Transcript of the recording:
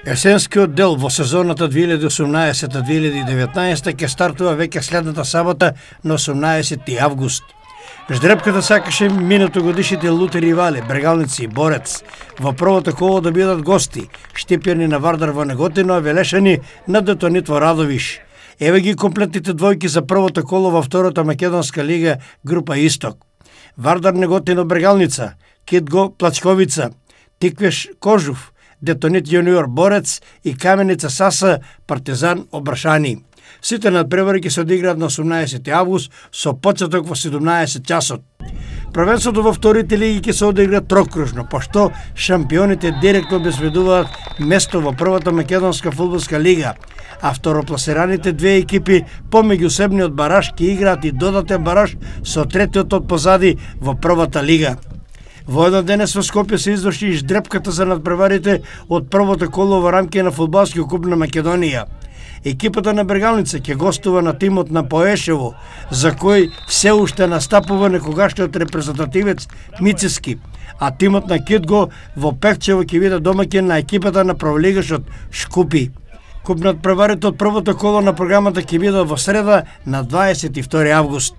Есенскиот дел во сезоната 2018-2019 ќе стартува веќе следната сабота на 18 август. Ждрепката сакаше минатогодишните лути ривали, Брегалници и Борец, во првото коло да бидат гости, Штипјани на Вардар во Неготино, а Велешани на Детонит во Радовиш. Еве ги комплетните двојки за првото коло во втората македонска лига група Исток. Вардар Неготино Брегалница, Китго Плачковица, Тиквеш Кожув, Детонит Јуниор Борец и Каменица Саса Партизан Обрашани. Сите надпревари ќе се одиграат на 18 август со почеток во 17 часот. Првенството во вторите лиги ќе се одигра трокружно, пошто шампионите директно обезбедуваат место во првата македонска фудбалска лига, а второпласираните две екипи по меѓусебниот бараж ќе играат и додатен бараж со третиот од позади во првата лига. Во еден денес во Скопје се изврши и ждрепката за надпреварите од првото коло во рамки на фудбалскиот куп на Македонија. Екипата на Брегалница ќе гостува на тимот на Поешево, за кој се уште настапува некогашниот репрезентативец Мицески, а тимот на Китго во Пехчево ќе биде домаќин на екипата на праволигашот Шкупи. Куп надпреварите од првото коло на програмата ќе биде во среда на 22 август.